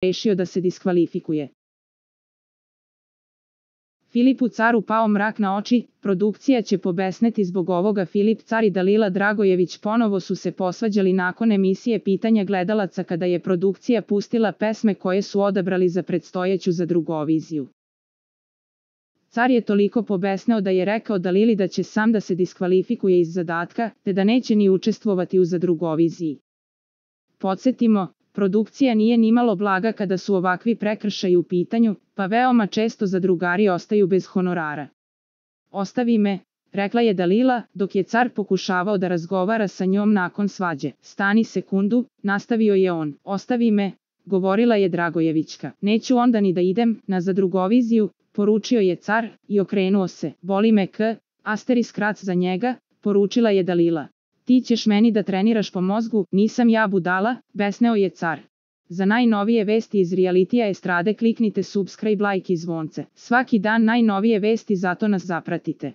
rešio da se diskvalifikuje. Filipu Caru pao mrak na oči, produkcija će pobesneti zbog ovoga. Filip Car i Dalila Dragojević ponovo su se posvađali nakon emisije Pitanja gledalaca kada je produkcija pustila pesme koje su odabrali za predstojeću Zadrugoviziju. Car je toliko pobesneo da je rekao Dalili da će sam da se diskvalifikuje iz zadatka, te da neće ni učestvovati u Zadrugoviziji. Podsjetimo, produkcija nije nimalo blaga kada su ovakvi prekršaji u pitanju, pa veoma često zadrugari ostaju bez honorara. Ostavi me, rekla je Dalila, dok je Car pokušavao da razgovara sa njom nakon svađe. Stani sekundu, nastavio je on. Ostavi me, govorila je Dragojevićka. Neću onda ni da idem na Zadrugoviziju, poručio je Car i okrenuo se. Boli me ***, za njega, poručila je Dalila. Ti ćeš meni da treniraš po mozgu, nisam ja budala, besneo je Car. Za najnovije vesti iz realitija estrade kliknite subscribe, like i zvonce. Svaki dan najnovije vesti, zato nas zapratite.